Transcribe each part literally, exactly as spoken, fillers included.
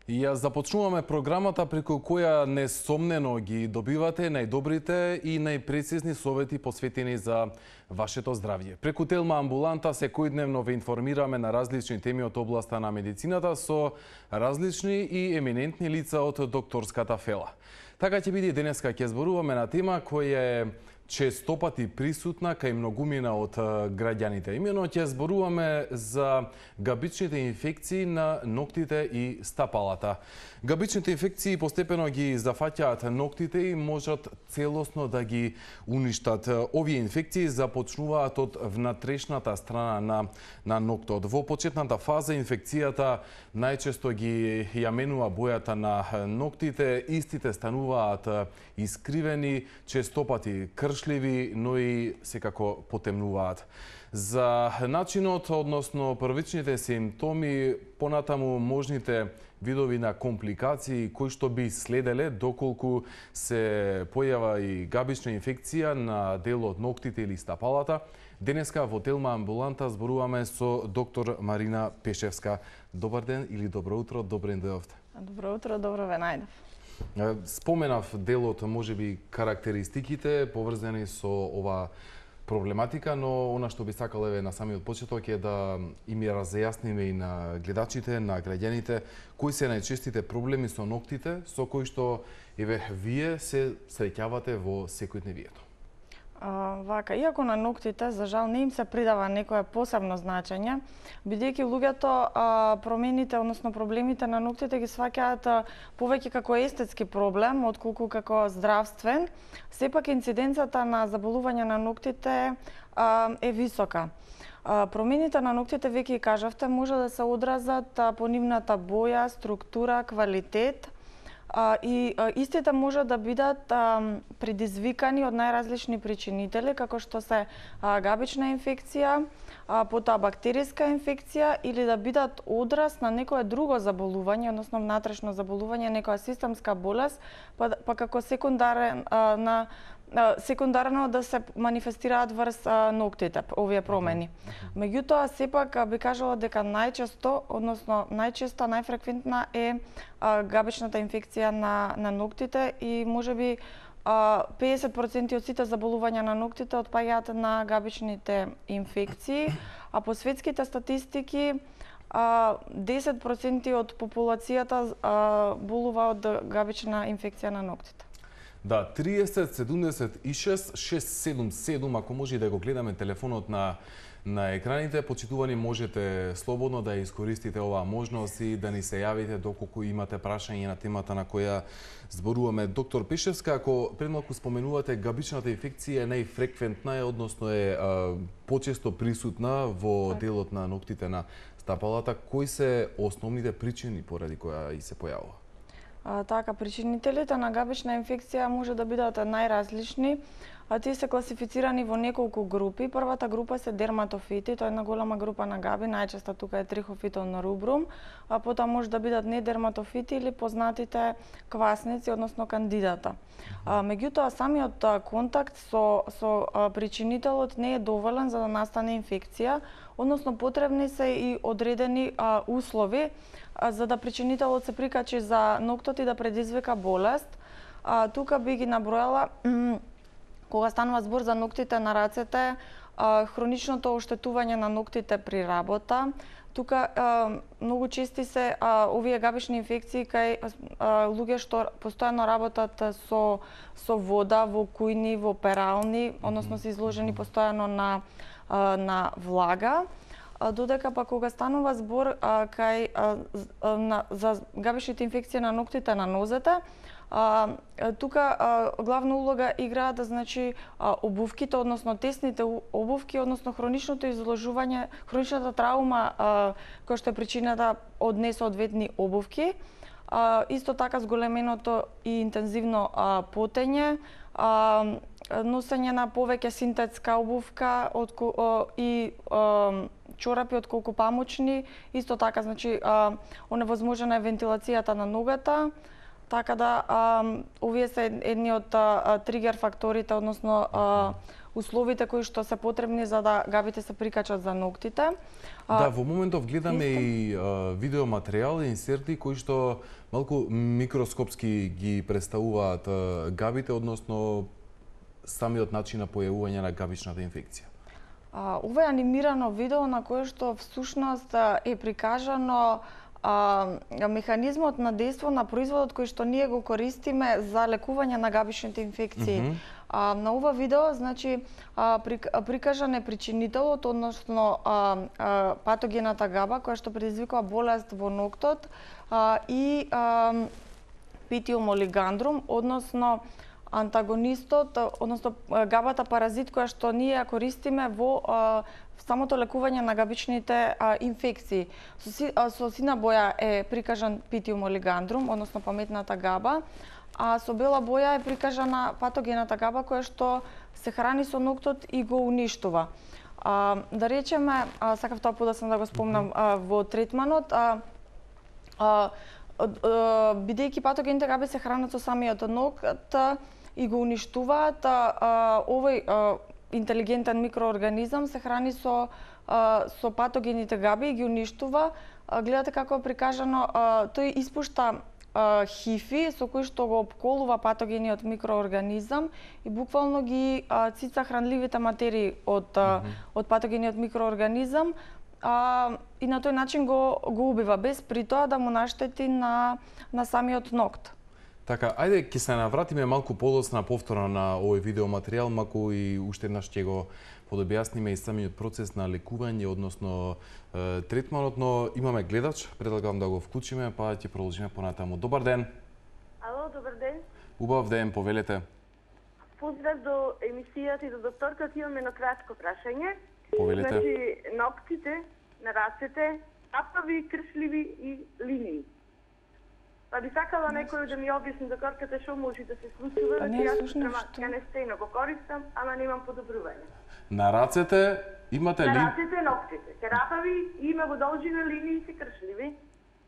И ја започнуваме програмата преку која несомнено ги добивате најдобрите и најпрецизни совети посветени за вашето здравје. Преку Телма амбуланта секојдневно ве информираме на различни теми од областа на медицината со различни и еминентни лица од докторската фела. Така ќе биде денеска, ќе зборуваме на тема која е честопати присутна кај многумина од граѓаните. Имено ќе зборуваме за габичните инфекции на ноктите и стапалата. Габичните инфекции постепено ги зафаќаат ноктите и можат целосно да ги уништат. Овие инфекции започнуваат од внатрешната страна на, на ноктот. Во почетната фаза инфекцијата најчесто ги ја менува бојата на ноктите, истите стануваат искривени, честопати кршливи, но и секако потемнуваат. За начинот, односно првичните симптоми, понатаму можните видови на компликации кои што би следеле доколку се појава и габична инфекција на дел од ноктите или стапалата. Денеска во Телма амбуланта зборуваме со доктор Марина Пешевска. Добар ден или добро утро, добре дојдовте. Добро утро, добро ве најдов. Споменав делот, можеби карактеристиките поврзани со ова проблематика, но она што би сакал еве на самиот почеток е да им ја разјасниме и на гледачите, на граѓаните, кои се најчестите проблеми со ноктите, со кои што еве вие се среќавате во секојдневието. А, вака, иако на ноктите за жал не им се придава некое посебно значење, бидејќи луѓето а, промените, односно проблемите на ноктите ги сваќаат повеќе како естетски проблем отколку како здравствен, сепак инциденцата на заболување на ноктите а, е висока. А, промените на ноктите, веќе и кажавте, може да се одразат а, по нивната боја, структура, квалитет, А, и а, истите може да бидат а, предизвикани од најразлични причинители, како што се а, габична инфекција, а, потоа бактериска инфекција или да бидат одраз на некое друго заболување, односно внатрешно заболување, некоја системска болест, па, па како секундарен а, на секундарно да се манифестираат врз ноктите, овие промени. Меѓутоа, сепак би кажала дека најчесто, односно најчеста, најфреквентна е габичната инфекција на, на ноктите и можеби педесет проценти од сите заболувања на ноктите отпаѓаат на габичните инфекции, а по светските статистики десет проценти од популацијата болува од габична инфекција на ноктите. Да, триесет седумдесет и шест шест седум седум, ако може да го гледаме телефонот на на екраните, почитувани, можете слободно да искористите оваа можност и да ни се јавите доколку имате прашање на темата на која зборуваме. Доктор Пешевска, ако предмалку споменувате габичната инфекција е најфреквентна, односно е а, почесто присутна во делот на ноктите на стапалата, кои се основните причини поради која и се појавува? А, така, причинителите на габична инфекција може да бидат најразлични, а тие се класифицирани во неколку групи. Првата група се дерматофити, тоа е една голема група на габи, најчесто тука е трихофитон рубрум, а потоа може да бидат недерматофити или познатите квасници, односно кандидата. А, меѓутоа, самиот контакт со, со причинителот не е доволен за да настане инфекција, односно потребни се и одредени а, услови а, за да причинителот се прикачи за ноктот и да предизвика болест. А, тука би ги набројала кога станува збор за ноктите на рацете, а, хроничното оштетување на ноктите при работа. Тука а, многу чести се а, овие габични инфекции кај а, луѓе што постојано работат со со вода во кујни, во перални, односно се изложени постојано на а, на влага. А, додека па кога станува збор а, кај а, на, за габичните инфекции на ноктите на нозете, А, тука а, главна улога играат значи а, обувките, односно тесните обувки, односно хроничното изложување, хроничната траума а, која што е причината од несоодветни обувки. А, исто така зголеменото и интензивно а, потење, а, носење на повеќе синтетска обувка од, а, и а, чорапи отколку памучни, исто така значи а, оневозможена е вентилацијата на ногата. Така да, а, овие се едни од а, тригер факторите, односно а, условите кои што се потребни за да габите се прикачат за ноктите. Да, во моментов гледаме исто и а, видеоматеријал и инсерти кои што малку микроскопски ги представуваат а, габите, односно самиот начин на појавување на габичната инфекција. А, ова е анимирано видео на кое што всушност е прикажано а, механизмот на дејство на производот кој што ние го користиме за лекување на габичните инфекции. Mm -hmm. а, на ова видео, значи, а, прикажан е причинителот, односно а, а, патогената габа која што предизвикува болест во ноктот а, и а, Питиум олигандрум, односно антагонистот, односно габата паразит која што ние ја користиме во а, самото лекување на габичните а, инфекции. Со, си, а, со сина боја е прикажан Питиум олигандрум, односно паметната габа, а со бела боја е прикажана патогената габа која што се храни со ноктот и го уништува. А, да речеме, а, сакав тоа подоцна да го спомнам а, во третманот, а, а, бидејќи патогените габи се хранат со самиот нокт и го уништуваат, овој интелигентен микроорганизам се храни со со патогените габи и ги уништува. Гледате како е прикажано, тој испушта хифи со кои што го опколува патогениот микроорганизам и буквално ги цица хранливите материи од mm -hmm. од патогениот микроорганизам. А, и на тој начин го, го убива, без при тоа да му наштети на, на самиот нокт. Така, ајде ќе се навратиме малку подоцна повторно на овој видеоматеријал, маку и уште еднаш ќе го подобјасниме и самиот процес на лекување, односно е, третманот, но имаме гледач, предлагам да го вклучиме, па ќе продолжиме понатаму. Добар ден. Ало, добар ден. Убав ден, повелете. Поздрав до емисијата и до докторката, имаме едно кратко прашање. Повелете. Значи, ноктите на рацете, апави, кршливи и линии. Па би сакала некој да ми објасни докторката што може да се случува, па да не, јас слушам, ја не стејно го користам, ама немам подобрување. На рацете имате ли? На рацете ноктите, се рапави и има во должина линии и се кршливи.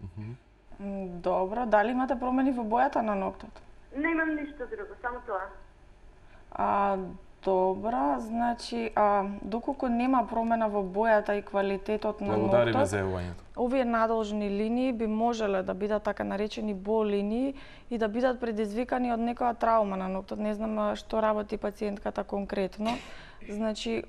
Uh -huh. Добро, дали имате промени во бојата на ноктот? Немам ништо друго, само тоа. А, добро, значи, а, доколку нема промена во бојата и квалитетот на ноктот, благодариме за јавувањето. Овие надолжни линии би можеле да бидат така наречени бол линии и да бидат предизвикани од некоја траума на ноктот. Не знам што работи пациентката конкретно. Значи,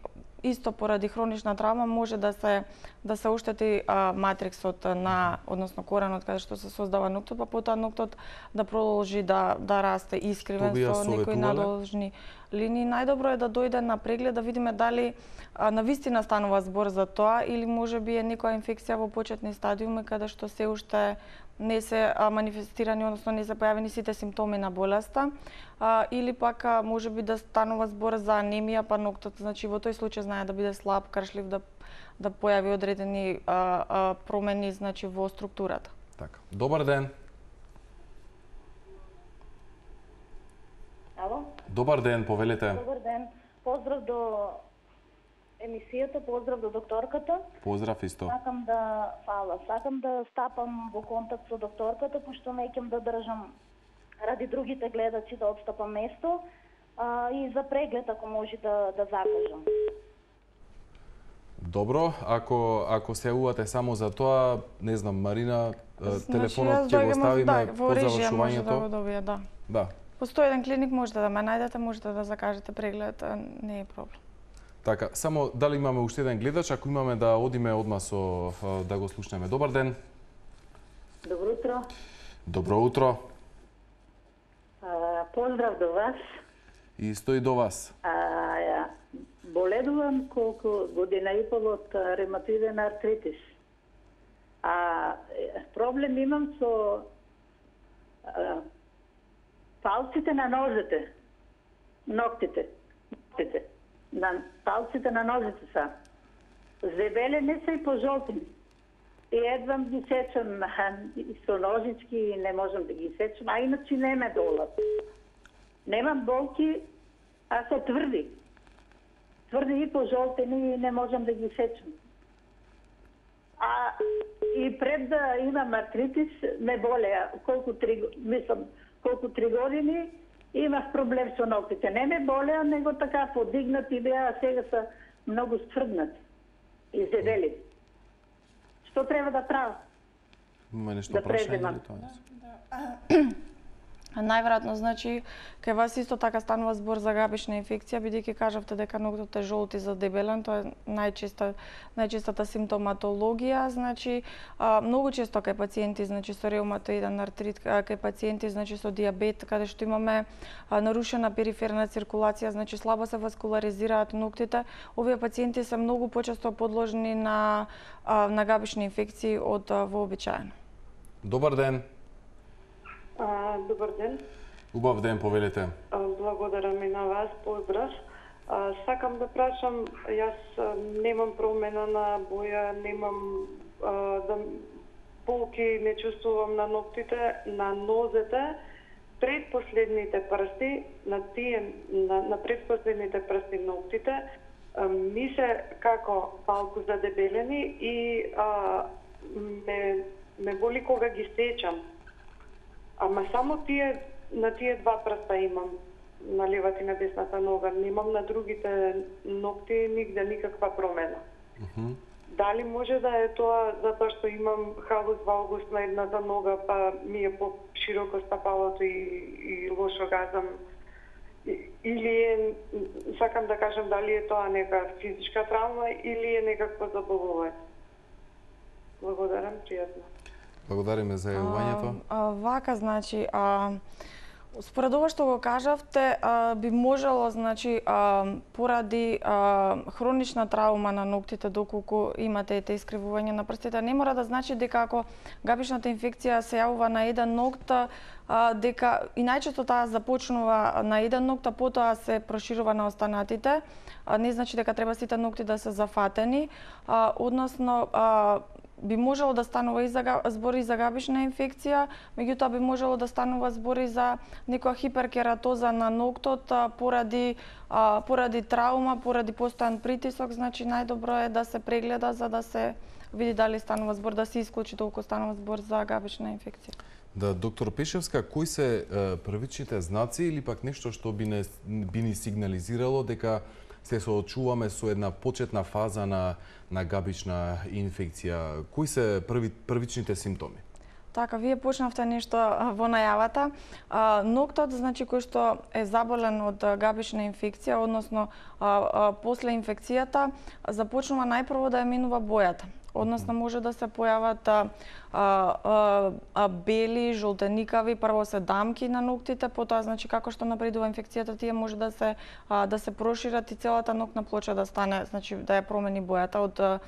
исто поради хронична травма може да се да се оштети а, матриксот на, односно коренот каде што се создава ноктот, па потоа ноктот да продолжи да да расте искривен со некои надолжни линии. Најдобро е да дојде на преглед да видиме дали а, навистина станува збор за тоа или можеби е некоја инфекција во почетни стадиуми каде што се уште не се а, манифестирани, односно не се појавени сите симптоми на болеста, а, или пак а, можеби да станува збор за анемија, па ноктот, значи во тој случај знае да биде слаб, кршлив, да да појави одредени а, а, промени, значи во структурата. Така. Добар ден. Ало? Добар ден, повелете. Добар ден. Поздрав до емисијата, поздрав до докторката. Поздрав исто. Сакам да, фала, сакам да стапам во контакт со докторката, пошто неќам да држам ради другите гледачи да отстапам место а, и за преглед ако може да да закажам. Добро, ако ако се јавувате само за тоа, не знам, Марина, Значи, телефонот ќе го ставиме да, по завршувањето. Да, го добија, да. Да. Постои еден клиник, можете да ме најдете, можете да закажете преглед, не е проблем. Така, само дали имаме уште еден гледач, ако имаме да одиме одма со да го слушнеме. Добар ден. Добро утро. Добро утро. А, поздрав до вас. И стои до вас. А, ја, боледувам колку година и пол од ревматоиден артритис. А проблем имам со а, палците на нозете, ноктите, ноктите, на палците на нозете са. Зебелени се и пожолтени. И едвам ги сечам со ножички и не можам да ги сечам, а иначе не ме болат. Немам болки, а се тврди. Тврди и пожолтени и не можам да ги сечам. А и пред да имам артритис ме болеа колку три, мислам, колку три години Имав проблем со ноктите. Не ме болеа, него така подигнати беа, а сега се многу стврднати и зедели. Што треба да правам? Има нешто Да прашање преземам. или тоа? Најверојатно, значи, кај вас исто така станува збор за габична инфекција, бидејќи кажавте дека ноктот е жолт и задебелен, тоа е најчеста најчестата симптоматологија, значи, а, многу често кај пациенти, значи со реуматоиден артрит, кај пациенти, значи со дијабет, каде што имаме а, нарушена периферна циркулација, значи слабо се васкуларизираат ноктите, овие пациенти се многу почесто подложени на а, на габични инфекции од а, вообичаено. Добар ден. А, добар ден. Убав ден, повелете. А, благодарам и на вас, поздрав. А, сакам да прашам, јас а, немам промена на боја, немам а, да болки, не чувствувам на ноктите, на нозете, предпоследните прсти, на тие на, на предпоследните прсти ноктите, а, ми се како малку задебелени и а, ме ме боли кога ги сечам. Ама само тие, на тие два прста имам, на левата и на десната нога. Немам на другите ногти нигде никаква промена. Uh -huh. Дали може да е тоа затоа што имам халус валгус на едната нога, па ми е по-широко стапалото и, и лошо газам? Или е, сакам да кажам, дали е тоа нека физичка травма или е некакво заболување? Благодарам, пријатно. Благодариме за јавувањето. А, а, вака, значи, а, според ова што го кажавте, а, би можело, значи, а, поради а, хронична травма на ноктите, доколку имате ете искривување на прстите, не мора да значи дека ако габичната инфекција се јавува на еден нокт, а, дека и најчесто таа започнува на еден нокт, а потоа се проширува на останатите. А, не значи дека треба сите нокти да се зафатени, а, односно, а, би можело да станува и за збори за габична инфекција, меѓутоа би можело да станува збори за некоја хиперкератоза на ноктот а, поради а, поради травма, поради постојан притисок, значи најдобро е да се прегледа за да се види дали станува збор, да се исклучи толку станува збор за габична инфекција. Да, доктор Пешевска, кои се е, првичните знаци или пак нешто што би не би ни сигнализирало дека се соочуваме со една почетна фаза на на габична инфекција? Кои се први, првичните симптоми? Така, вие почнавте нешто во најавата. А, ноктот, значи, кој што е заболен од габична инфекција, односно а, а, после инфекцијата, започнува најпрво да ја минува бојата. Односно, може да се појават а, а, а, бели, жолтеникави, прво се дамки на ноктите, потоа, значи, како што напредува инфекцијата, тие може да се а, да се прошират и целата ноктна плоча да стане, значи, да ја промени бојата од а,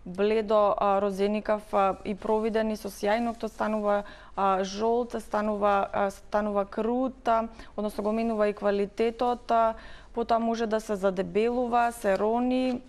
бледо а, розеникав а, и провиден и со сјај ноктот станува а, жолт, станува а, станува крут, а, односно го минува и квалитетот, а, потоа може да се задебелува, се рони.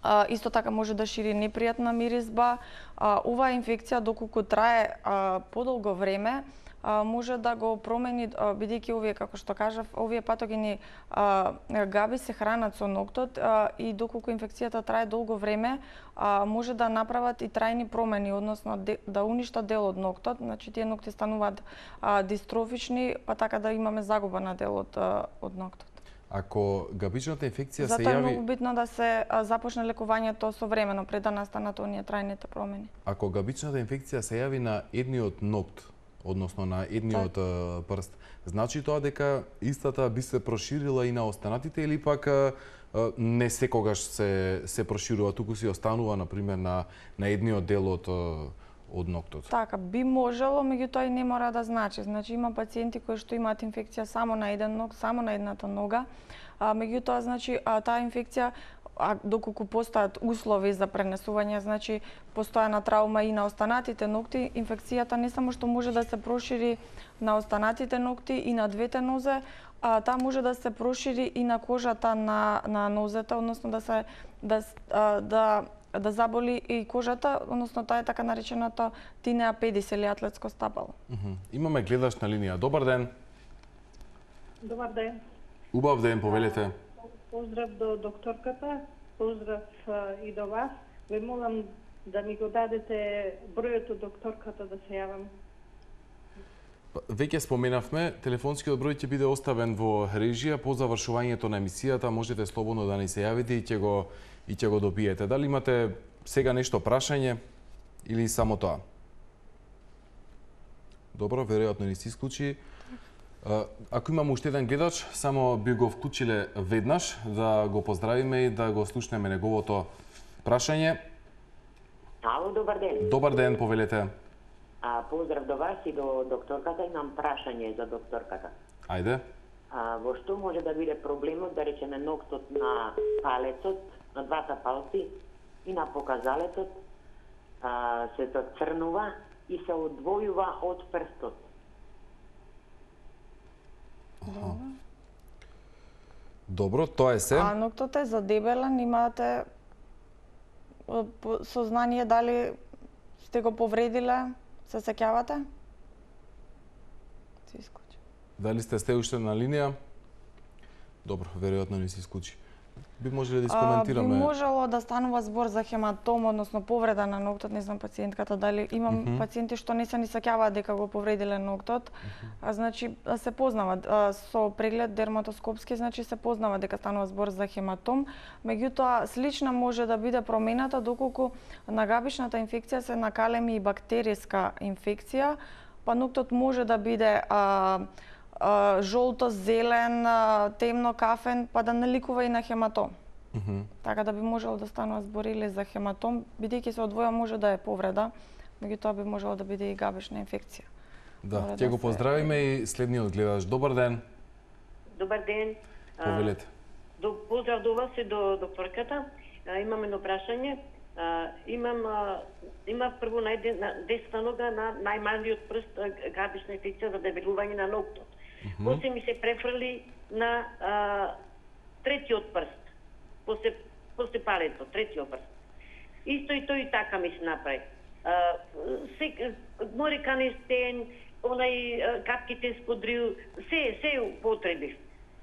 А, исто така може да шири непријатна миризба. А, оваа инфекција, доколку трае а, подолго време, а, може да го промени, а, бидејќи овие, како што кажав, овие патогени а, габи се хранат со ноктот а, и доколку инфекцијата трае долго време, а, може да направат и трајни промени, односно де, да уништат дел од ноктот, значи тие нокти стануваат а, дистрофични, па така да имаме загуба на дел од, а, од ноктот. Ако габичната инфекција Затоа се јави... е многу битно да се а, започне лекувањето современо пред да настанат оние трајните промени. Ако габичната инфекција се јави на едниот нокт, односно на едниот так. прст, значи тоа дека истата би се проширила и на останатите или пак а, не секогаш се се проширува, туку си останува на пример на на едниот дел од од ноктот? Така, би можело, меѓутоа и не мора да значи. Значи има пациенти кои што имаат инфекција само на еден ног, само на едната нога, а, меѓутоа, значи, а, таа инфекција, а доколку постојат услови за пренесување, значи постојана травма и на останатите ногти, инфекцијата не само што може да се прошири на останатите ногти и на двете нозе, а таа може да се прошири и на кожата на на нозете, односно да се да а, да да заболи и кожата, односно тоа е така нареченото тинеа педис или атлетско стапало. Uh -huh. Имаме гледаш на линија. Добар ден. Добар ден. Убав ден, повелете. Поздрав до докторката, поздрав а, и до вас. Ве молам да ми го дадете бројот од докторката да се јавам. Веќе споменавме, телефонскиот број ќе биде оставен во режија. По завршувањето на емисијата можете слободно да ни се јавите и ќе го и ќе го добиете. Дали имате сега нешто прашање или само тоа? Добро, веројатно ни се исклучи. Ако имам уште еден гледач, само би го вклучиле веднаш да го поздравиме и да го слушнеме неговото прашање. Ало, добар ден. Добар ден, повелете. А, поздрав до вас и до докторката. Имам прашање за докторката. Ајде. А, во што може да биде проблемот, да речеме, ноктот на палецот, на двата палци и на показалецот, а, се црнува и се одвојува од прстот? Аха. Добро, тоа е се. А ноктот е задебелен, имате сознание дали сте го повредиле? Се сеќавате? Се исклучи. Дали сте сте уште на линија? Добро, веројатно не се исклучи. Би можеле да искоментираме? А, би можело да станува збор за хематом, односно повреда на ноктот, не знам пациентката дали имам mm -hmm. пациенти што не се ни сеќаваат дека го повредиле ноктот. Mm -hmm. А значи се познава а, со преглед дерматоскопски, значи се познава дека станува збор за хематом. Меѓутоа слична може да биде промената доколку нагабичната инфекција се накалеми и бактериска инфекција, па ноктот може да биде а, Uh, жолто, зелен, uh, темно, кафен, па да наликува и на хематом. Mm -hmm. Така да би можело да станува збор или за хематом, бидејќи се одвоја може да е повреда, меѓутоа би можело да биде и габечна инфекција. Да, ќе да го поздравиме се... и следниот гледач. Добар ден. Добар ден. Повелете. До, поздрав до вас и до докторката. А, имам едно прашање. А, имам а, има прво на десна нога на најмалиот прст габечна инфекција за дебелување на ноктот. Mm -hmm. После ми се префрли на а, третиот прст. После, после палецот, третиот прст. Исто и тој така ми се направи. А, се, море канестен, онај капките сподрил, се, се употребив.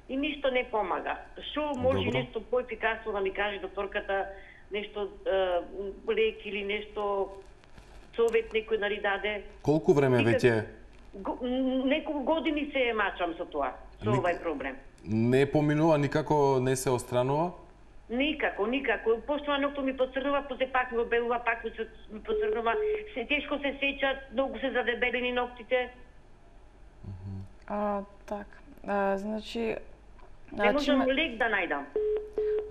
И ништо не помага. Шо може Добро. Нешто поефикасно да ми каже докторката, нешто лек или нешто совет некој нали даде? Колку време веќе? Неколку години се мачам со тоа, со Ник... овај проблем. Не поминува, никако не се остранува? Никако, никако. Пошто ноктот ми поцрнува, после пак ми обелува, пак ми поцрнува. Се тешко се сеќа, многу се задебелени ноктите. Uh -huh. А, така. А, значи не можам ме... лек да најдам.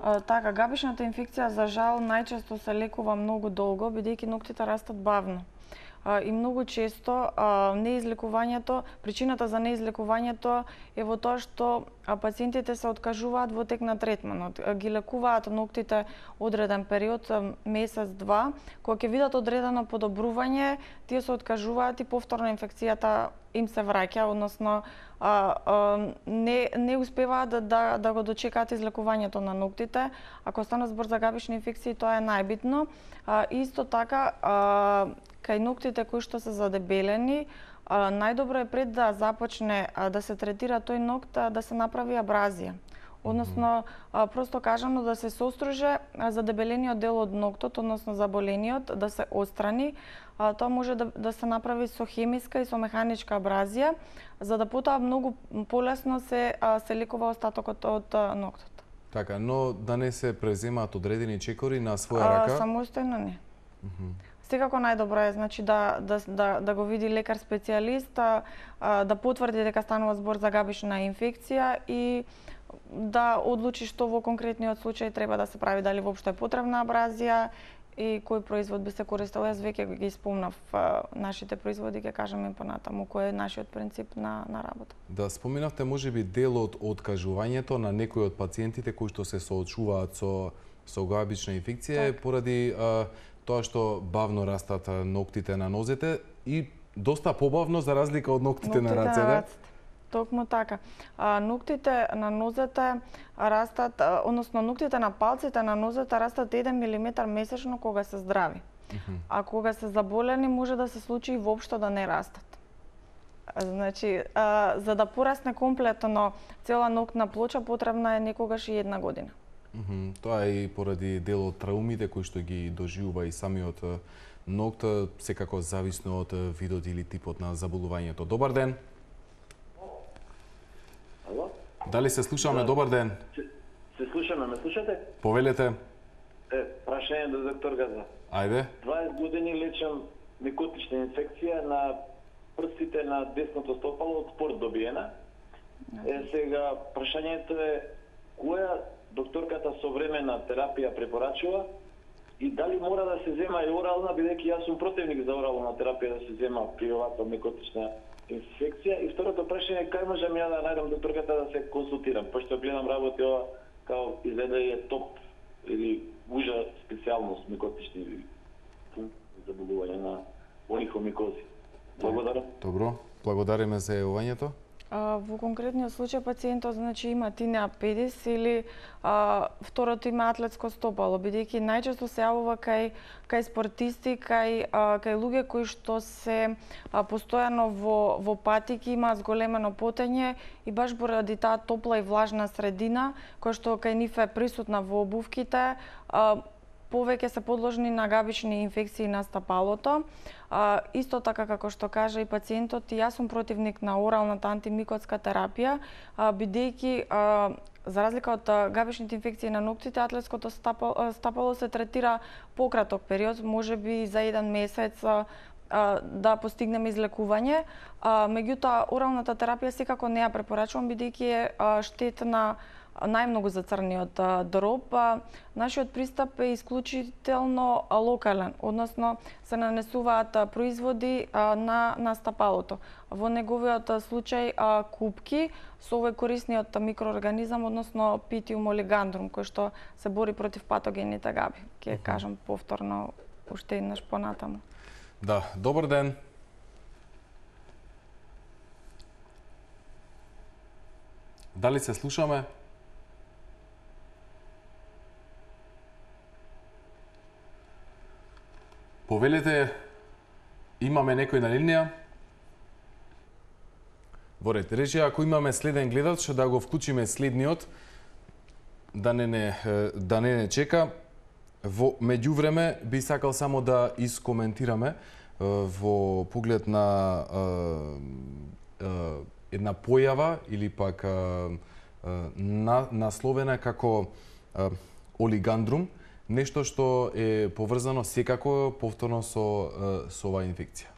А, така, габичната инфекција за жал најчесто се лекува многу долго, бидејќи ноктите растат бавно. И многу често неизлекувањето, причината за неизлекувањето е во тоа што пациентите се откажуваат во тек на третманот. Ги лекуваат ноктите одреден период, месец-два, кога ќе видат одредено подобрување, тие се откажуваат и повторно инфекцијата им се враќа, односно а, а, не, не успеваат да, да, да го дочекаат излекувањето на ноктите. Ако стане збор за габични инфекции, тоа е најбитно. А, исто така, а, кај ноктите кои што се задебелени, а, најдобро е пред да започне а, да се третира тој нокт, а, да се направи абразија. Односно, а, просто кажано да се соструже задебелениот дел од ноктот, односно заболениот, да се отстрани. А, тоа може да, да се направи со хемиска и со механичка абразија, за да потоа многу полесно се, а, се лекува остатокот од а, ноктот. Така, но да не се преземаат одредени чекори на своја рака? А, самостојно не. Uh -huh. Секако најдобро е значи да да да да го види лекар специјалист, а, да потврди дека станува збор за габична инфекција и да одлучи што во конкретниот случај треба да се прави, дали воопшто е потребна абразија и кој производ би се користел. Јас веќе ги спомнав а, нашите производи, ќе кажам и понатаму кој е нашиот принцип на на работа. Да, споминавте можеби дел од откажувањето на некои од пациентите кои што се соочуваат со со габична инфекција так. Поради а, тоа што бавно растат ноктите на нозете и доста побавно за разлика од ноктите, ноктите на рацете. Токму така. А, ноктите на нозете растат, а, односно ноктите на палците на нозете растат еден милиметар месечно кога се здрави. Uh -huh. А кога се заболени може да се случи и воопшто да не растат. Значи, а, за да порасне комплетно цела ноктна плоча потребна е некогаш и една година. Mm -hmm. Тоа е и поради дел од траумите кои што ги доживува и самиот ногта, секако зависно од видот или типот на заболувањето. Добар ден. Ало? Дали се слушаме? Да. Добар ден. Се, се слушаме, ме слушате? Повелете. Е, прашање до доктор Газа. Ајде. дваесет години лечам микотична инфекција на прстите на десното стопало од спорт добиена. Е, сега, прашањето е која докторката современа терапија препорачува и дали мора да се зема и орална, бидејќи јас сум противник за орална терапија да се зема при оваква микотична инфекција. И второто прашање е кај можам ја да најдам докторката да се консултирам, пошто гледам работи ова као изгледа е топ или ужа специјалност микотични заболувања на олихомикози. Благодарам. Добро, благодариме за јавувањето. Во конкретниот случај пациентот значи има тинеа педис или а, второто има атлетско стопало, бидејќи најчесто се јавува кај кај спортисти, кај а, кај луѓе кои што се а, постојано во во патики, има зголемено потење и баш поради таа топла и влажна средина која што кај нив е присутна во обувките, а, повеќе се подложни на габични инфекции на стапалото. А, исто така како што кажа и пациентот, и јас сум противник на оралната антимикотска терапија, а, бидејќи а, за разлика од а, габичните инфекции на ноктите, атлетското стапало, стапало се третира пократок период, можеби за еден месец а, а, да постигнеме излекување. А, меѓутоа, оралната терапија секако не ја препорачувам, бидејќи е а, штетна најмногу за црниот дроб. Нашиот пристап е исклучително локален, односно се нанесуваат производи на, на стапалото. Во неговиот случај купки со овој корисниот микроорганизам, односно Питиум олигандрум, кој што се бори против патогените габи. Ќе кажам повторно уште еднаш понатаму. Да, добар ден. Дали се слушаме? Повелете, имаме некој на линија? Во ред, рече, ако имаме следен гледач, да го вклучиме следниот, да не не, да не, не чека. Во меѓувреме, би сакал само да искоментираме во поглед на една појава или пак на, насловена како олигандрум, нешто што е поврзано секако повторно со, со оваа инфекција.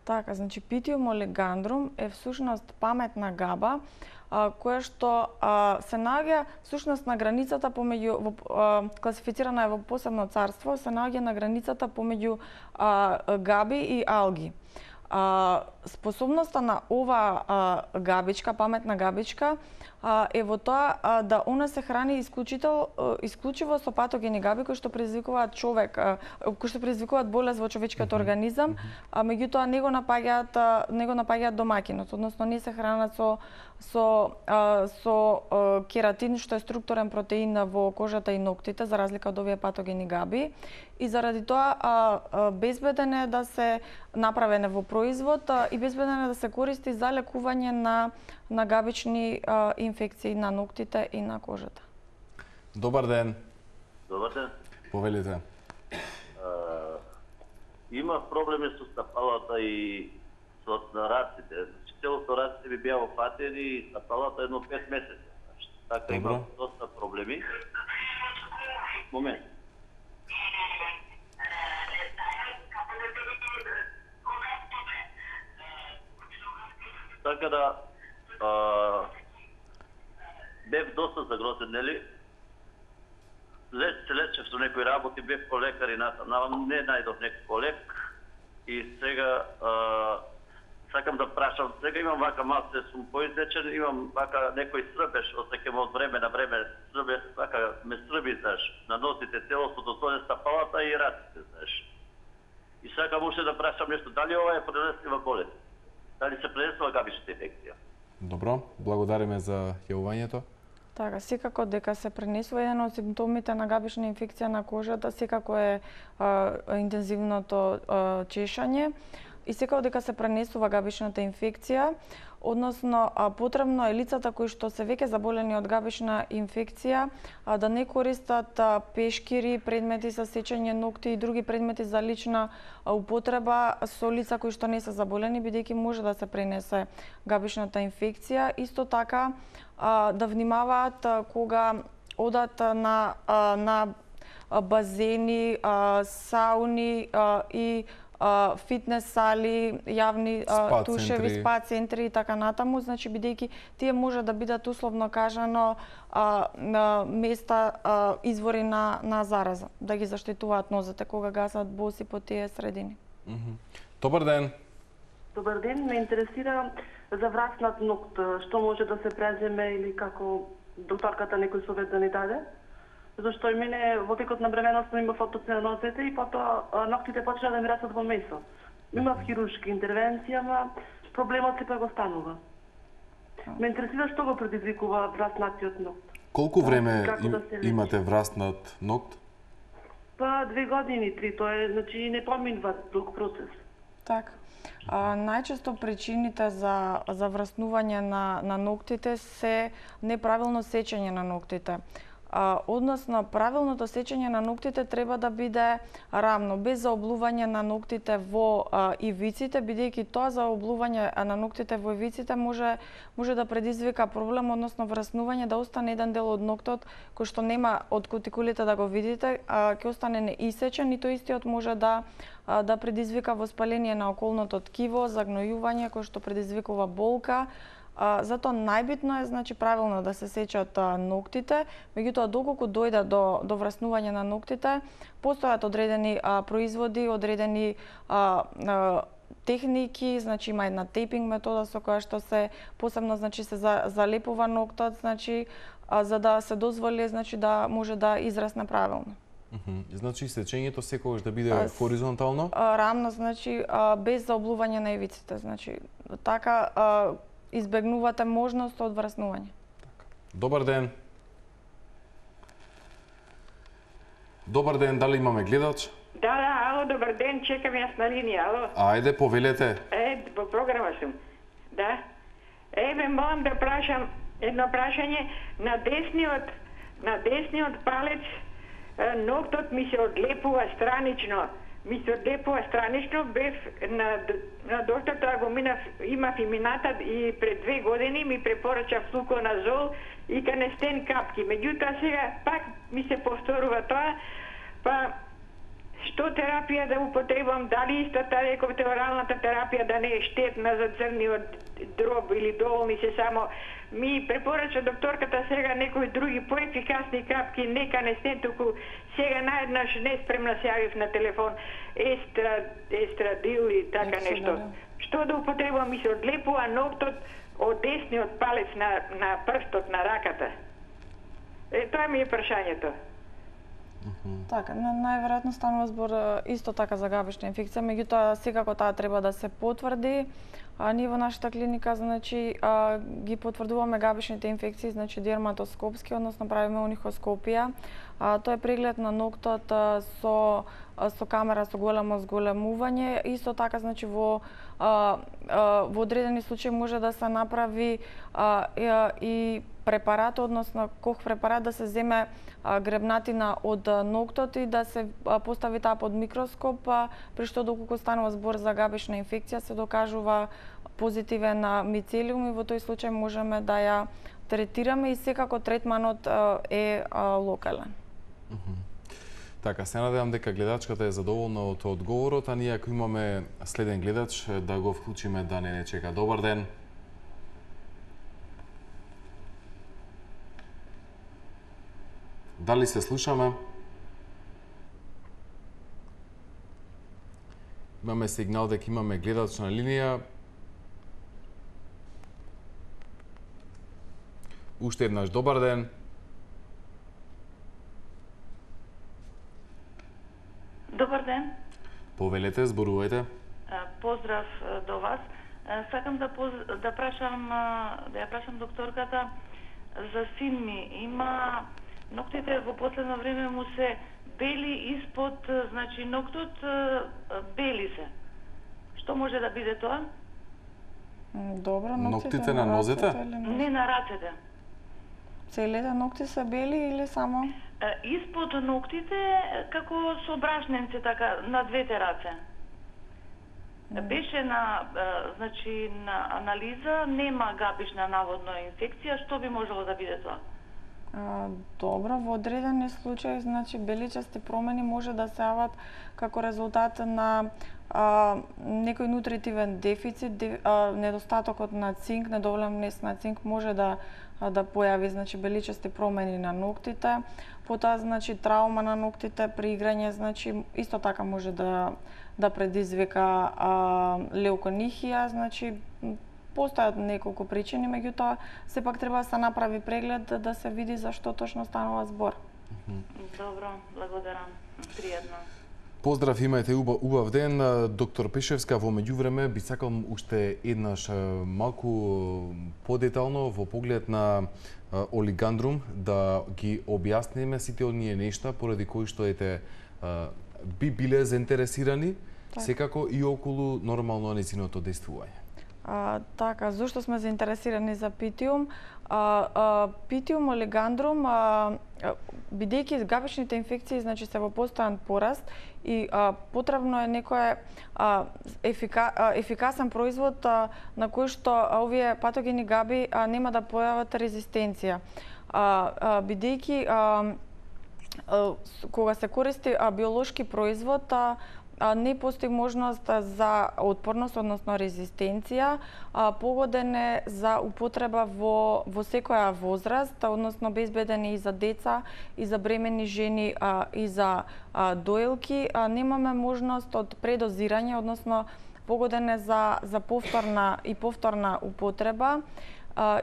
Така, значи Питиум олигандрум е всушност паметна габа, а, која што а, се наоѓа всушност на границата помеѓу, во, а, класифицирана е во посебно царство, се наоѓа на границата помеѓу а, габи и алги. А, способноста на ова а, габичка, паметна габичка, а, е во тоа а, да она се храни исклучител, исклучиво со патогени габи кои што предизвикуваат човек, а, кои што предизвикуваат болест во човечкиот организам, а меѓутоа не го напаѓаат не го напаѓаат домаќинот, односно не се хранат со со а, со а, кератин, што е структурен протеин во кожата и ноктите, за разлика од овие патогени габи. И заради тоа а, а, безбеден е да се направене во производ а, и безбеден е да се користи за лекување на на габични а, инфекции на ноктите и на кожата. Добар ден. Добар ден. Повелите. А, има проблеми со стапалата и со раците. Целото раците би беа опатени и стапалата едно пет месеци. Така има доста проблеми. Момент. Така да а, бев доста загрозен, нели? Леч, се лечев со некои работи, бев по лекар и натаму, не најдов некој лек. И сега а, сакам да прашам, сега имам вака малце, сум поизлечен, имам вака некој србеш, осеќам од време на време, србе, вака ме срби, знаеш, на носите, целосното, тоа е стапалата и раците, знаеш. И сакам уште да прашам нешто, дали ова е пренеслива болест? Дали се пренесува габичната инфекција? Добро, благодариме за јавувањето. Така, секако дека се пренесува, еден од симптомите на габична инфекција на кожата, секако е а, интензивното а, чешање. и секако дека се пренесува габичната инфекција, односно потребно е лицата кои што се веќе заболени од габична инфекција да не користат пешкири, предмети за сечење ногти и други предмети за лична употреба со лица кои што не се заболени, бидејќи може да се пренесе габичната инфекција. Исто така да внимаваат кога одат на на базени, сауни и фитнес сали, јавни спа тушеви, центри. спа центри и така натаму, значи бидејќи тие може да бидат условно кажано а, на места а, извори на на зараза, да ги заштитуваат нозете кога гасат боси по тие средини. Mm -hmm. Добар ден. Добар ден, ме интересира за враснат ногт, што може да се преземе или како докторката некој совет да ни даде? Зашто и мене во текот на бременоста има фотоци на нозете и потоа ноктите почна да ми растат во месо. Имав хируршка интервенција, ама проблемот сепак го станува. Ме интересира што го предизвикува враснатиот ногт. Колку време Како им, да се лечи? имате враснат ногт? Па две години, три, тоа е, значи не поминува друг процес. Така. А, најчесто причините за за враснување на на ноктите се неправилно сечење на ноктите. А, односно, правилното сечење на ноктите треба да биде рамно, без заоблување на ноктите во а, ивиците, бидејќи тоа заоблување на ноктите во ивиците може може да предизвика проблем, односно враснување, да остане еден дел од ноктот кој што нема од кутикулите да го видите, а, ќе остане неисечен и тој истиот може да а, да предизвика воспаление на околното ткиво, загнојување кој што предизвикува болка. А, затоа најбитно е значи правилно да се сечат а, ноктите, меѓутоа доколку дојде до до враснување на ноктите, постојат одредени а, производи, одредени а, а, техники, значи има една тейпинг метода со која што се посебно значи се за, залепува ноктот, значи а, за да се дозволи значи да може да израсне правилно. Mm -hmm. Значи сечењето секогаш да биде А, хоризонтално? А, рамно, значи а, без заоблување на ивиците, значи така а, избегнувате можност од враснување. Добар ден. Добар ден, дали имаме гледач? Да, да, ало, добар ден, чекам јас на линија, ало. Ајде, повелете. Е, по програма сум. Да. Еве, молам да прашам едно прашање. На десниот, на десниот палец е, ноктот ми се одлепува странично. Ми се одлепува странично, бев на, на докторта го минав, имав и мината и пред две години ми препорача флуконазол и канестен капки. Меѓутоа сега пак ми се повторува тоа, па што терапија да употребам, дали истата рековте оралната терапија да не е штетна за црниот дроб или доволни се само. Ми препорача докторката сега некои други поефикасни капки, не канестен, туку сега наеднаш неспремна се јавив на телефон, естра, естрадил и така нешто. Што да употребам, ми се одлепува ноктот од десниот палец на, на прстот на раката. Е, тоа ми е прашањето. Така, најверојатно станува збор исто така за габична инфекција, меѓутоа секако таа треба да се потврди. А, ние во нашата клиника значи а, ги потврдуваме габичните инфекции, значи дерматоскопски, односно правиме унихоскопија. А, тоа е преглед на ноктот а, со а, со камера со големо зголемување. Исто така значи во а, а, во одредени случаи може да се направи а, и, и препарат, односно кох препарат да се земе а, гребнатина од ноктот и да се а, постави таа под микроскоп, а, при што доколку станува збор за габична инфекција се докажува позитивен мицелиум и во тој случај можеме да ја третираме и секако третманот а, е а, локален. Mm -hmm. Така, се надевам дека гледачката е задоволна од одговорот, а ние ако имаме следен гледач да го вклучиме да не не чека. Добар ден. Дали се слушаме? Имаме сигнал дека имаме гледач на линија. Уште еднаш добар ден. Добар ден. Повелете, зборувајте. Поздрав до вас. Сакам да поз... да прашам да ја прашам докторката за син ми. Има ноктите во последно време му се бели испод, значи ноктот бели се. Што може да биде тоа? Добро, ноктите, Ноктите на нозете? Не на рацете. Целите нокти се бели или само? Е, Испод ноктите како со брашненци така на двете раце. Беше на е, значи на анализа нема габишна наводно инфекција, што би можело да биде тоа? А, добро, во одредени случаи, значи беличасти промени може да се јават како резултат на а, некој нутритивен дефицит, де, а, недостатокот на цинк, недоволен внес на цинк може да да појави значи беличасти промени на ноктите. Потоа значи траума на ноктите при играње значи исто така може да да предизвика а, леуконихија, значи постојат неколку причини, меѓутоа сепак треба да се направи преглед да се види за што точно станува збор. Добро, благодарам. Пријатно. Поздрав, имајте убав, убав ден. Доктор Пешевска, во меѓувреме би сакал уште еднаш малку подетално во поглед на олигандрум да ги објасниме сите оние нешта поради кои што ете би биле заинтересирани так. Секако и околу нормално нејзиното дејствување. А, така, зошто сме заинтересирани за питиум? А, а, питиум олигандрум, а, бидејќи габичните инфекции значи се во постојан пораст и а, потребно е некој а, ефика, а, ефикасен производ а, на кој што а, овие патогени габи а, нема да појават резистенција. А, а, бидејќи а, а, кога се користи а, биолошки производ, а, не постои можност за отпорност, односно резистенција, погоден е за употреба во, во секоја возраст, односно безбеден е и за деца, и за бремени жени, и за доелки. Немаме можност од предозирање, односно погоден е за, за повторна и повторна употреба.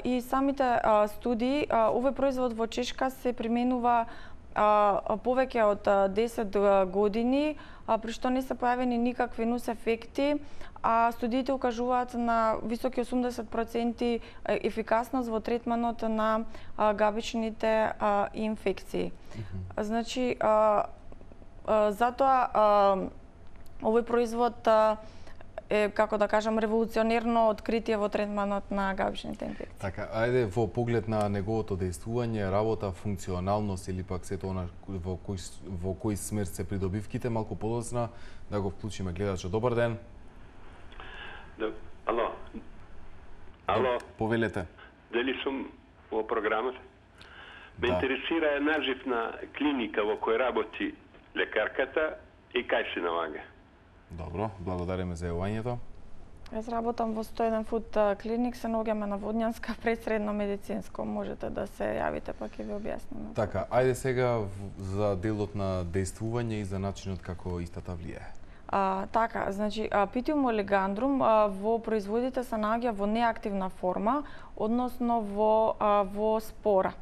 И самите студии, овој производ во Чешка се применува повеќе од десет години, при што не се појавени никакви нус ефекти, а студиите укажуваат на високи осумдесет проценти ефикасност во третманот на габичните инфекции. Mm-hmm. Значи, затоа овој производ е, како да кажам, револуционерно откритие во третманот на габичните инфекции. Така, ајде во поглед на неговото дејствување, работа, функционалност или пак сето она во кој во кој смер се придобивките, малку подоцна да го вклучиме гледачот. Добар ден. Да, ало. Ало. Повелете. Дали сум во програмата? Ме да. Интересира една живна клиника во која работи лекарката и кај се налага. Добро, благодариме за јавањето. Јас работам во сто еден фуд клиник, се наоѓаме на Водњанска пред средно медицинско. Можете да се јавите, па ќе ви објасниме. Така, ајде сега за делот на дејствување и за начинот како истата влијае. А, така, значи, питиум олигандрум а, во производите се наоѓа во неактивна форма, односно во, а, во спора.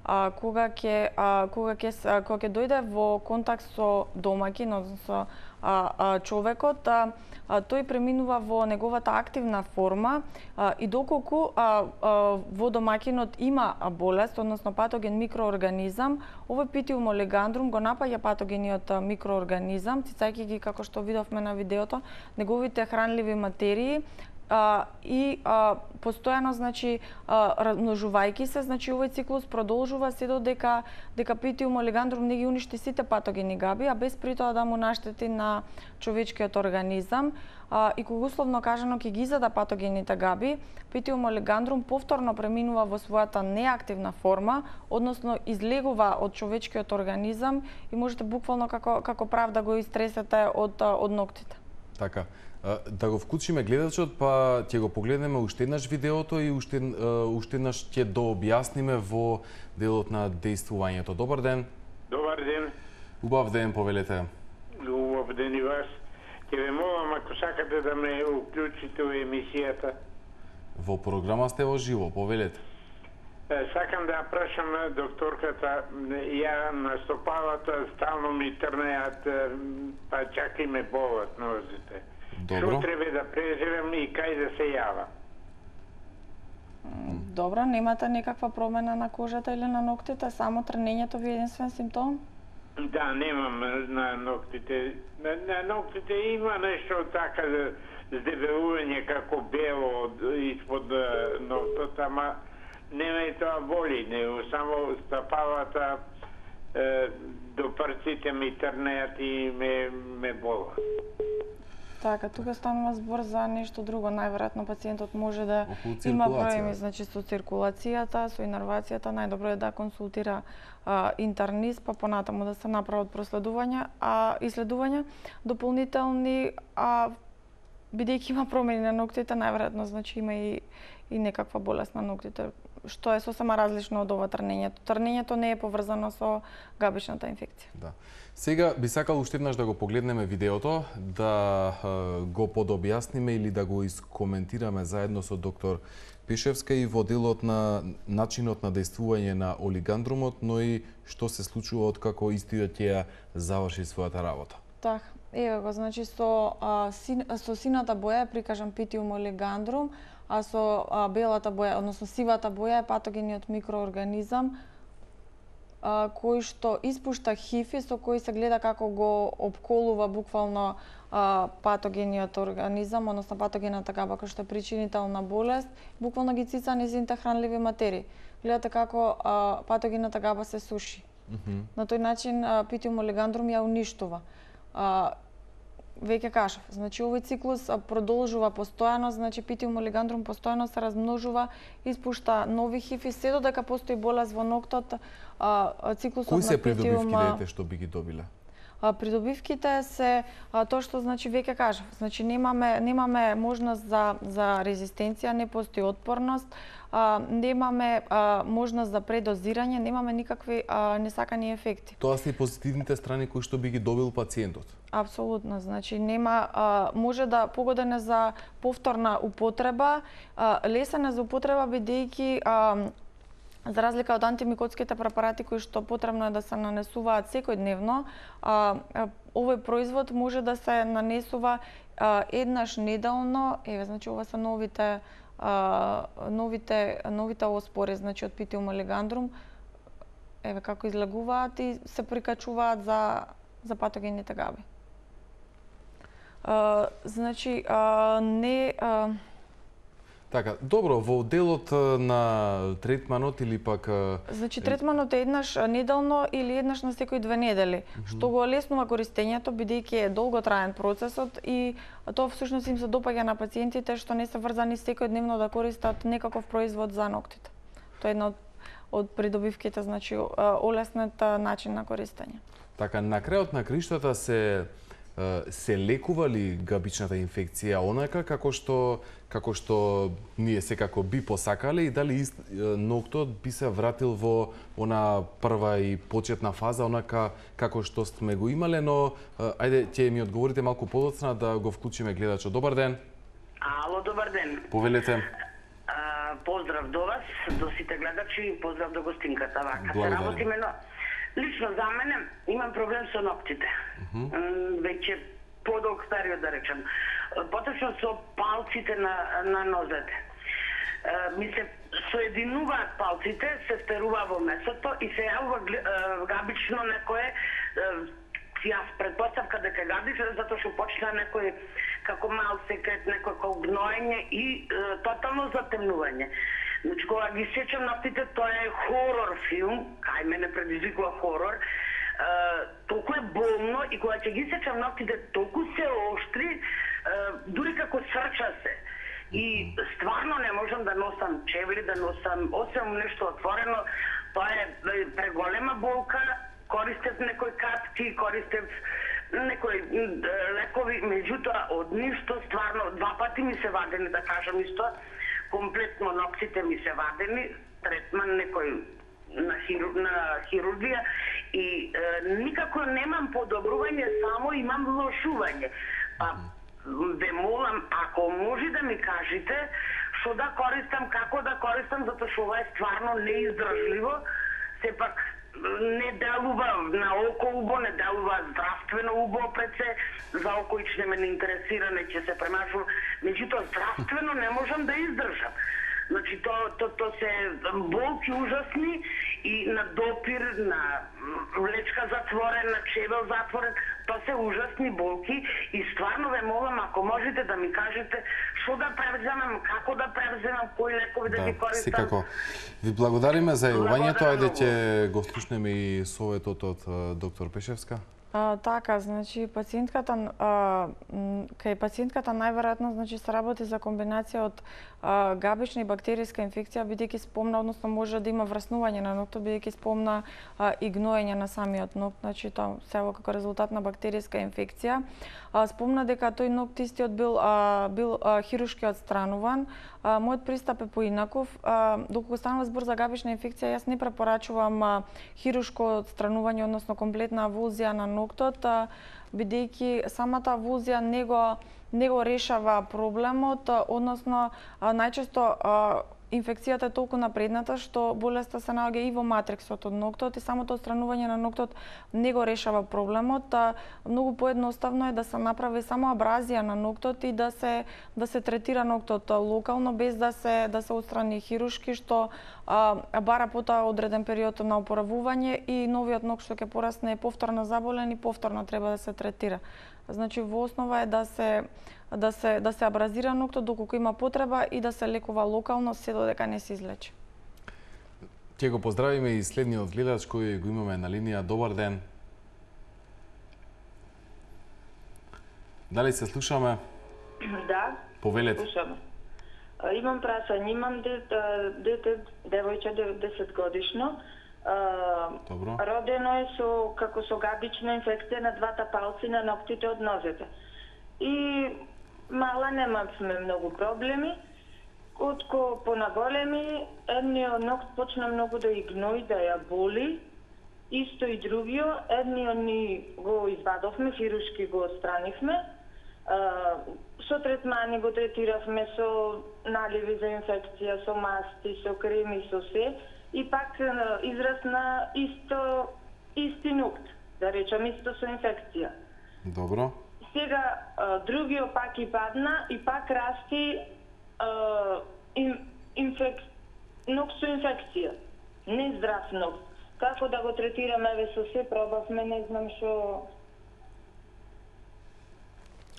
А, кога ќе кога ќе кога ќе дојде во контакт со домаќин, односно а, а, човекот, а, а, тој преминува во неговата активна форма а, и доколку а, а, во домаќинот има болест, односно патоген микроорганизам, овој питиум олигандрум го напаѓа патогениот микроорганизам, цицајќи ги, како што видовме на видеото, неговите хранливи материи, Uh, и uh, постојано, значи, uh, размножувајќи се, значи овој циклус продолжува се додека дека питиум олигандрум не ги уништи сите патогени габи, а без при тоа да му наштети на човечкиот организам. Uh, и кога условно кажано ќе ги изада патогените габи, питиум олигандрум повторно преминува во својата неактивна форма, односно излегува од човечкиот организам и можете буквално како како прав да го истресете од од ноктите. Така. Да го вклучиме гледачот, па ќе го погледнеме уште еднаш видеото и уште, уште еднаш ќе дообјасниме во делот на дејствувањето. Добар ден. Добар ден. Убав ден, повелете. Убав ден и вас. Ќе ве молам, ако сакате да ме уклучите во емисијата. Во програма сте во живо, повелете. Сакам да прашам докторката, ја на стопалата стално ми трнеат, па чак и ме болат нозите. Што треба да презирам и кај да се јава? Добро, немате никаква промена на кожата или на ноктите, само трнењето ви е единствен симптом? Да, немам на ноктите. На, на ноктите има нешто така здебелување како бело испод ноктот, ама нема и тоа боли, него само стапалата е, до парците ми трнеат и ме, ме бола. Така, тука станува збор за нешто друго. Најверојатно пациентот може да има проблеми, значи со циркулацијата, со инервацијата, најдобро е да консултира а, интернист, па понатаму да се направат проследувања, а исследувања дополнителни, а бидејќи има промени на ноктите, најверојатно значи има и и некаква болест на ноктите, што е сосема различно од ова трнењето. Трнењето не е поврзано со габичната инфекција. Да. Сега би сакал уште еднаш да го погледнеме видеото, да е, го подобјасниме или да го искоментираме заедно со доктор Пешевска и во делот на начинот на дејствување на олигандрумот, но и што се случува откако истиот ќе заврши својата работа. Така, еве го, значи со а, син, со сината боја е прикажан питиум олигандрум, а со а, белата боја, односно сивата боја е патогениот микроорганизам а, кој што испушта хифи, со кој се гледа како го опколува буквално а, патогениот организам, односно патогената габа кој што е причинител на болест, буквално ги цица низините хранливи материи. Гледате како а, патогената габа се суши. Mm-hmm. На тој начин а, питиум олигандрум ја уништува. А, веќе кажав, значи овој циклус продолжува постојано, значи питиум олигандрум постојано се размножува, испушта нови хифи, се додека постои болест во ноктот, а, циклусот Кои се на питиум... придобивки дете што би ги добиле? А, придобивките се а, тоа што значи веќе кажав, значи немаме немаме можност за за резистенција, не постои отпорност, а, немаме а, можност за предозирање, немаме никакви а, несакани ефекти. Тоа се и позитивните страни кои што би ги добил пациентот. Апсолутно, значи нема а, може да погоден е за повторна употреба, а, лесен е за употреба бидејќи а, за разлика од антимикотските препарати кои што потребно е да се нанесуваат секојдневно, а, а, овој производ може да се нанесува а, еднаш неделно. Еве, значи ова се новите а, новите новите оспори, значи од питиум олигандрум. Еве како излегуваат и се прикачуваат за за патогените габи. А, значи а, не а, Така, добро, во делот на третманот или пак... Значи, третманот е еднаш неделно или еднаш на секој две недели, mm-hmm. што го олеснува користењето, бидејќи е долготраен процесот и тоа всушност им се допаѓа на пациентите што не се врзани секојдневно да користат некаков производ за ноктите. Тоа е една од, од придобивките, значи, олеснет начин на користење. Така, на крајот на криштата се се лекува ли габичната инфекција онака како што како што ние секако би посакале и дали ист, ноктот би се вратил во она прва и почетна фаза онака како што сме го имале, но ајде ќе ми одговорите малку подоцна да го вклучиме гледачот. Добар ден. Ало, добар ден. Повелете. А, поздрав до вас, до сите гледачи и поздрав до гостинката. Вака се работиме, но лично за мене имам проблем со ноктите. Uh-huh. Веќе подолг период, да речем. Поточно со палците на, на нозете. Ми се соединуваат палците, се стерува во месото и се јавува габично некое, јас предпоставка дека гадиш, затоа што почна некој како мал секрет, некој како гноење и е, тотално затемнување. Значи, кога ги сечам ноктите, тоа е хорор филм, кај мене предизвикува хорор, Uh, толку е болно и кога ќе ги сечам ноктите, толку се оштри, uh, дури како срча се. И стварно не можам да носам чевли, да носам, осем нешто отворено, тоа е преголема болка, користев некои капки, користев некои лекови, меѓутоа од ништо стварно, два пати ми се вадени, да кажам исто, комплетно ноктите ми се вадени, третман некој на, хиру, на хирургија и е, никако немам подобрување, само имам влошување. Па, ве молам, ако може да ми кажете што да користам, како да користам, затоа што ова е стварно неиздржливо, сепак не делува на око убо, не делува здравствено убо пред се, за окоич не ме не интересира, не ќе се премашувам, меѓутоа здравствено не можам да издржам. Значи, то, то, то се болки ужасни и на допир, на влечка затворен, на чевел затворен, тоа се ужасни болки и стварно ве молам, ако можете да ми кажете што да превземам, како да превземам, кои лекови да, да ги користам. Секако. Ви благодариме за јавувањето, ајде ќе го слушнеме и советот од доктор Пешевска. А, така, значи пациентката а, кај пациентката најверојатно значи се работи за комбинација од а, габична и бактеријска инфекција, бидејќи спомна, односно може да има враснување на ноктот, бидејќи спомна а, и гноење на самиот нокт, значи тоа се како резултат на бактеријска инфекција. А, спомна дека тој нокт истиот бил а, бил а, хирушки отстрануван. А, мојот пристап е поинаков. А, доколку станува збор за габична инфекција, јас не препорачувам а, хирушко отстранување, односно комплетна авулзија на ноктот, бидејќи самата авулзија не го не го решава проблемот, односно најчесто инфекцијата е толку напредната што болеста се наоѓа и во матриксот од ноктот и самото отстранување на ноктот не го решава проблемот. Многу поедноставно е да се направи само абразија на ноктот и да се да се третира ноктот локално без да се да се отстрани хирушки, што а, бара потоа одреден период на опоравување и новиот нокт што ќе порасне е повторно заболен и повторно треба да се третира. Значи во основа е да се да се да се абразира ноктот доколку има потреба и да се лекува локално се додека не се излечи. Ќе го поздравиме и следниот гледач кој го имаме на линија. Добар ден. Дали се слушаме? Да. Повелете. Слушаме. Имам прашање, имам дете, дете девојче деветдесет годишно. Добро. Родено е со како со габична инфекција на двата палци на ноктите од нозете. И мала немавме многу проблеми. Отко понаголеми, едниот нокт почна многу да ја гнои, да ја боли. Исто и другиот, едниот ни го извадовме, хирушки го отстранивме. Со третмани го третиравме, со наливи за инфекција, со масти, со креми, со се. И пак израсна исто, исти нокт, да речам, исто со инфекција. Добро. Сега другиот пак и падна и пак расти а, ин, инфек... нокт со инфекција. Не здрав нокт. Како да го третираме, ве со се пробавме, не знам што.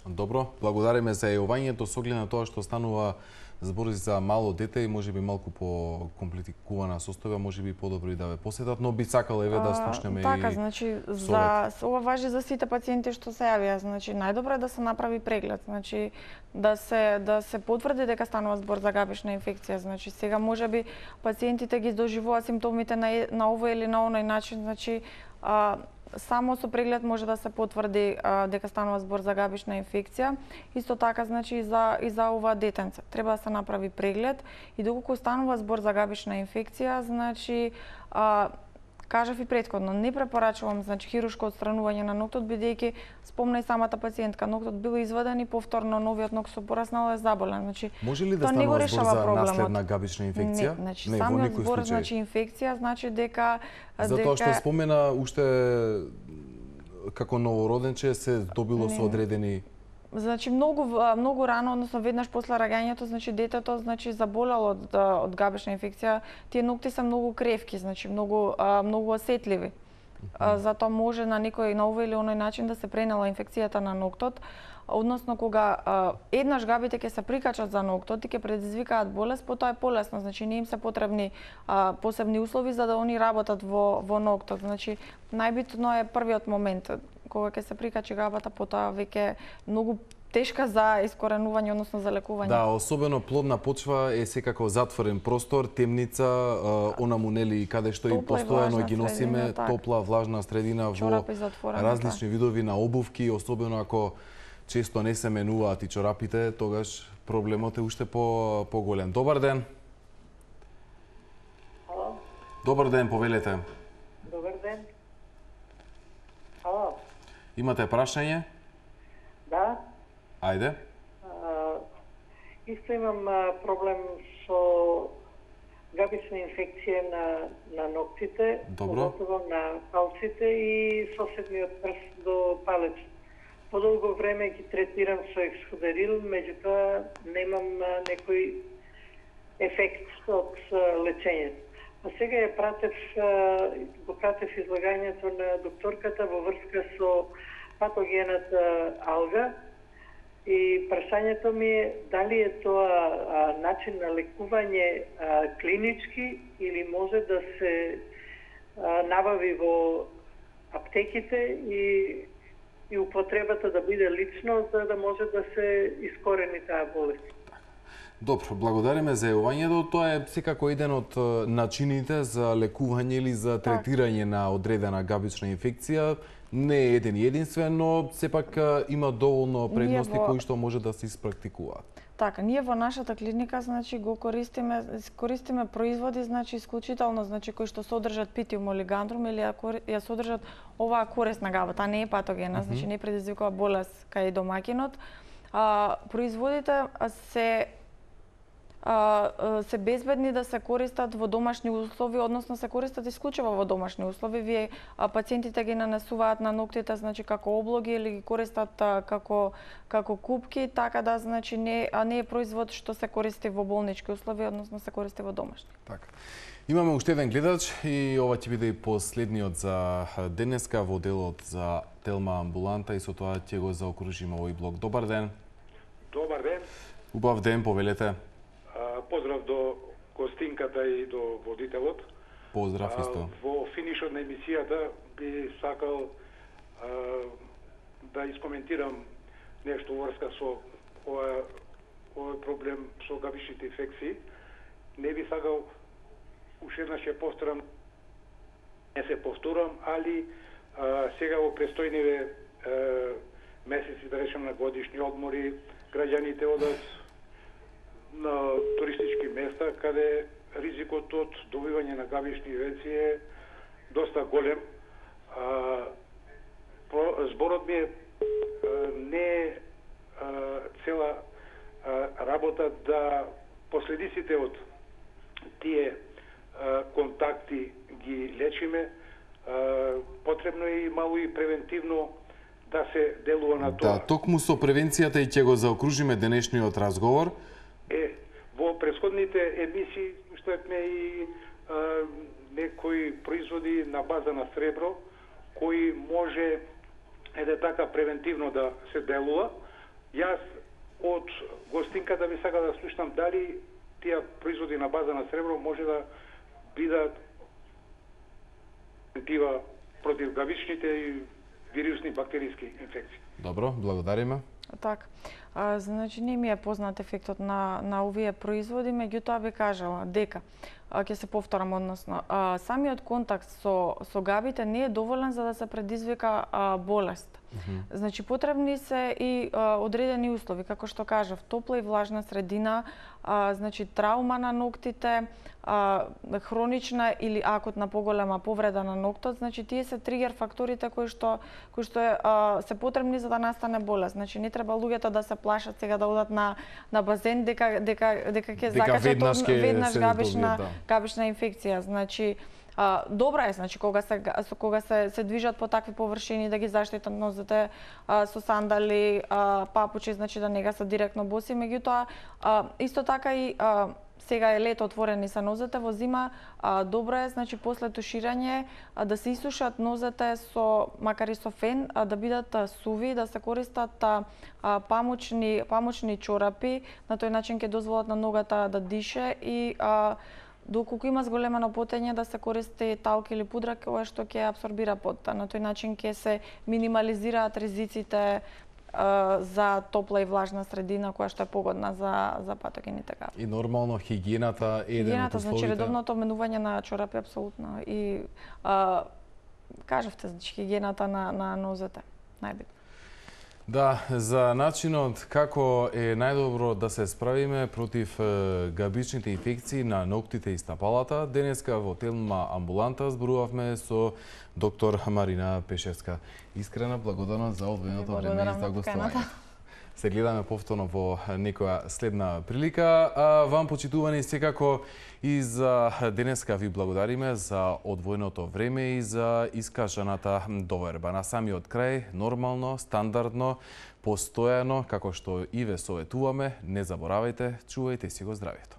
Добро, благодариме за јавувањето со оглед на тоа што станува збор за мало дете и можеби малку по комплицирана состојба, можеби подобро и да ве посетат, но би сакал еве да слушнеме така, и така, значи за ова важи за сите пациенти што се јавија, значи најдобро е да се направи преглед, значи да се да се потврди дека станува збор за габична инфекција, значи сега можеби пациентите ги доживуваат симптомите на на овој или на оној начин, значи а, само со преглед може да се потврди а, дека станува збор за габична инфекција. Исто така, значи, и за, и за ова детенце. Треба да се направи преглед и доколку станува збор за габична инфекција, значи, а, кажав и претходно, не препорачувам значи, хирушко отстранување на ноктот, бидејќи спомна и самата пациентка, ноктот бил изваден и повторно новиот нокт со пораснал е заболен. Значи, може ли да станува збор за наследна габична инфекција? Не, значи, не, самиот збор, случај. Значи, инфекција, значи дека... Затоа што спомена уште како новороденче се добило не. Со одредени... Значи многу многу рано, односно веднаш после раѓањето, значи детето значи заболело од од габична инфекција, тие нокти се многу кревки, значи многу многу осетливи. Mm-hmm. Затоа може на некој на овој или оној начин да се пренела инфекцијата на ноктот, односно кога а, еднаш габите ќе се прикачат за ноктот и ќе предизвикаат болест, потоа е полесно, значи не им се потребни а, посебни услови за да они работат во во ноктот. Значи најбитно е првиот момент кога ќе се прикачи габата, потоа веќе многу тешка за искоренување, односно за лекување. Да, особено плодна почва е секако затворен простор, темница, онаму нели каде што и постојано ги носиме, так. топла, влажна средина во различни так. видови на обувки, особено ако често не се менуваат и чорапите, тогаш проблемот е уште по поголем. Добар ден. Ало. Добар ден, повелете. Добар ден. Ало. Имате прашање? Да. Ајде. А, исто имам а, проблем со габична инфекција на на ноктите, поготово на палците и соседниот прст до палец. Подолго време ги третирам со ексходерил, меѓутоа немам а, некој ефект од лечењето. А сега ја пратев, а, го пратев излагањето на докторката во врска со патогенот алга. И прашањето ми е дали е тоа а, начин на лекување а, клинички или може да се а, набави во аптеките и, и употребата да биде лично, за да може да се искорени таа болест. Добро, благодариме за јавувањето. Тоа е секако еден од начините за лекување или за третирање на одредена габична инфекција. Не е еден и единствен, но сепак има доволно предности во... кои што може да се испрактикуваат. Така, ние во нашата клиника, значи, го користиме, користиме производи, значи, исклучително, значи, кои што содржат питиум олигандрум или ја содржат оваа корисна габа, таа не е патогена, mm -hmm. значи не предизвикува болест кај домаќинот. А, производите се се безбедни да се користат во домашни услови, односно се користат исклучиво во домашни услови. Вие пациентите ги нанесуваат на ноктите, значи како облоги или ги користат како како купки, така да значи не а не е производ што се користи во болнички услови, односно се користи во домашни. Така. Имаме уште еден гледач и ова ќе биде и последниот за денеска во делот за Телма амбуланта и со тоа ќе го заокружиме овој блок. Добар ден. Добар ден. Убав ден, повелете. Поздрав до гостинката и до водителот. Поздрав исто. Во финишот на емисијата би сакал а, да искоментирам нешто врска со ова, овој проблем со габичните инфекции. Не би сакал уште еднаш ќе повторам, не се повторам, али а, сега во престојниве месеци, да речем, на годишни одмори, граѓаните одат на туристички места, каде ризикот од добивање на габични инфекции е доста голем. А, зборот ми е не е цела а, работа да последиците од тие а, контакти ги лечиме. А, потребно е и мало и превентивно да се делува на тоа. Да, токму со превенцијата и ќе го заокружиме денешниот разговор. Е, во претходните емисии слушнавме и а, некои производи на база на сребро, кои може еде така превентивно да се делува. Јас од гостинката би сакал да слушнам дали тие производи на база на сребро може да бидат превентива против габичните и вирусни бактериски инфекции. Добро, благодариме. Така. А, значи не ми е познат ефектот на на овие производи, меѓутоа би кажала дека ќе се повторам, односно а, самиот контакт со со габите не е доволен за да се предизвика а, болест. Mm-hmm. Значи потребни се и а, одредени услови, како што кажав, топла и влажна средина, а, значи траума на ноктите, а, хронична или акутна поголема повреда на ноктот, значи тие се тригер факторите кои што кои што е, а, се потребни за да настане болест. Значи не треба луѓето да се плашат сега да одат на на базен дека дека дека ќе закачат веднаш габична да. габична инфекција. Значи А, добра е, значи, кога се кога се се движат по такви површини да ги заштитат нозете а, со сандали, а, папучи, значи да не га се директно боси, меѓутоа а, исто така и а, сега е лето, отворени се нозете, во зима а, добро е, значи после туширање а, да се исушат нозете со макар и со фен, а, да бидат а, суви, да се користат а, а, памучни памучни чорапи, на тој начин ќе дозволат на ногата да дише и а, доколку има зголемено потење да се користи талк или пудра, кое што ќе абсорбира потта. На тој начин ќе се минимализираат ризиците а, за топла и влажна средина која што е погодна за за патогените габи. И нормално хигиената е еден од условите. Значи редовното обменување на чорапи апсолутно и а, кажавте, значи хигиената на на нозете најбитно. Да, за начинот како е најдобро да се справиме против габичните инфекции на ноктите и стапалата, денеска во Телма амбуланта зборувавме со доктор Марина Пешевска. Искрена благодарност за одвоеното време и за гостувањето. Се гледаме повторно во некоја следна прилика. А вам, почитувани, секако и за денеска ви благодариме за одвоеното време и за искажаната доверба. На самиот крај, нормално, стандардно, постојано, како што и ве советуваме, не заборавајте, чувајте си го здравието.